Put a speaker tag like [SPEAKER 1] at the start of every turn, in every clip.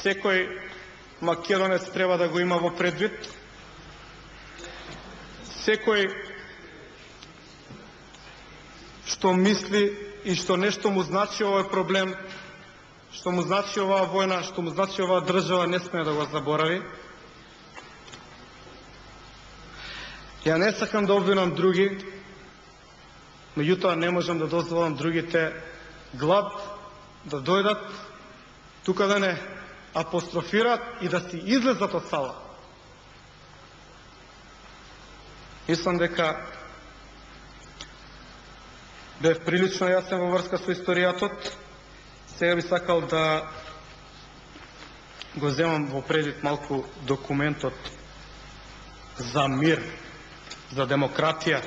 [SPEAKER 1] секој македонец треба да го има во предвид. Секој што мисли и што нешто му значи овој проблем, што му значи оваа војна, што му значи оваа држава, не сме да го заборави. Ја не сакам да обвинам други, меѓутоа не можам да дозволам другите глад да дојдат тука да не апострофираат и да си излезат од сала. Мислам дека бев прилично јасен во врска со историјатот. Сега би сакал да го земам во предвид малку документот за мир, за демократија,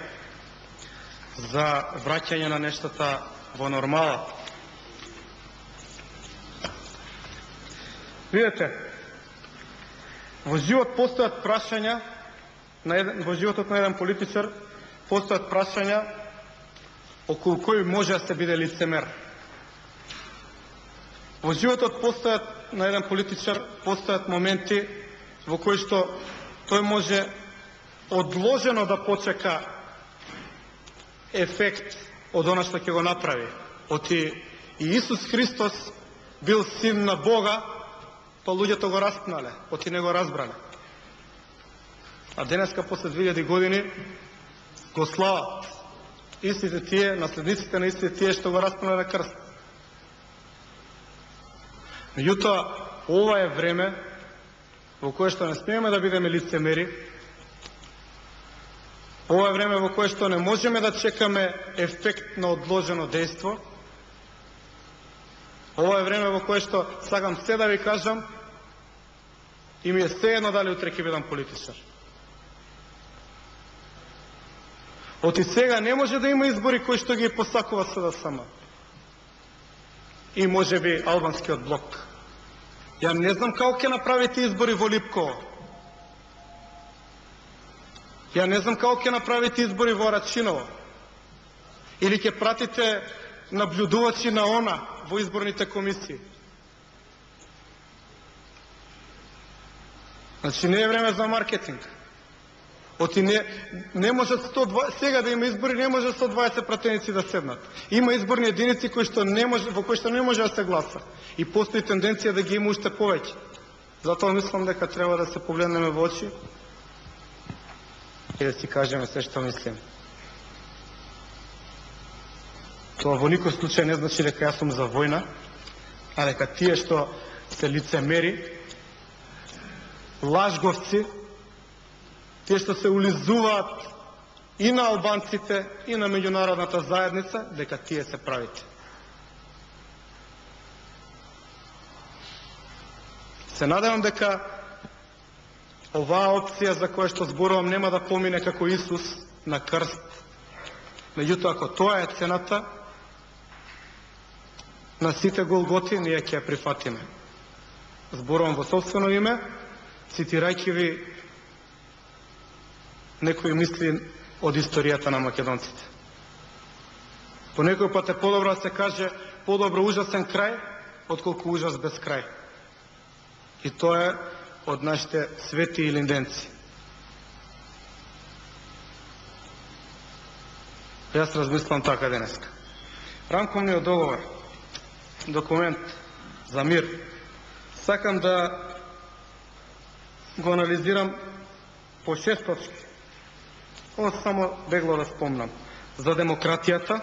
[SPEAKER 1] за враќање на нештата во нормала. Видете, во живот постојат прашања, во животот на еден политичар постојат прашања околу кој може да се биде лицемер. Во животот на еден политичар постојат моменти во кои што тој може одложено да почека ефект од она што ќе го направи. Оти и Исус Христос бил син на Бога, па луѓето го распнале, оти не го разбрале. А денеска после 2000 години го слават истите тие, наследниците на истите тие што го распнале на крст. Меѓутоа, ова е време во кое што не смееме да бидеме лицемери. Ова е време во кое што не можеме да чекаме ефект на одложено дејство. Ова е време во кое што сакам се да ви кажам и ми е сеедно дали утре ќе бидам политичар. Оти сега не може да има избори кои што ги посакува СДСМ. И може би албанскиот блок. Ја не знам како ќе направите избори во Липково. Ја не знам како ќе направите избори во Рачиново. Или ќе пратите наблюдувачи на ОНА во изборните комисии. Значи не е време за маркетинг. Оти не може сега да има избори, не може 120 пратеници да седнат. Има изборни единици во кои што не може да се гласа. И постои тенденција да ги има уште повеќе. Затоа мислам дека треба да се погледнеме во очи и да си кажеме се што мислим. Тоа во никој случај не значи дека јас сум за војна, а дека тие што се лицемери, лажговци, тие што се улизуваат и на албанците, и на меѓународната заедница, дека тие се правите. Се надевам дека оваа опција за која што зборувам нема да помине како Исус на крст. Меѓутоа, ако тоа е цената на сите голготи, ние ќе ја прифатиме. Зборувам во собствено име, цитирајќи ви некои мисли од историјата на македонците. По некој пат е подобро да се каже подобро ужасен крај, отколку ужас без крај. И тоа е од нашите свети илинденци. Јас размислам така денеска. Рамковниот договор, документ за мир, сакам да го анализирам по 6 точки. Ова само бегло да спомнам. За демократијата,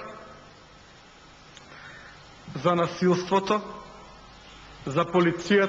[SPEAKER 1] за насилството, за полицијата,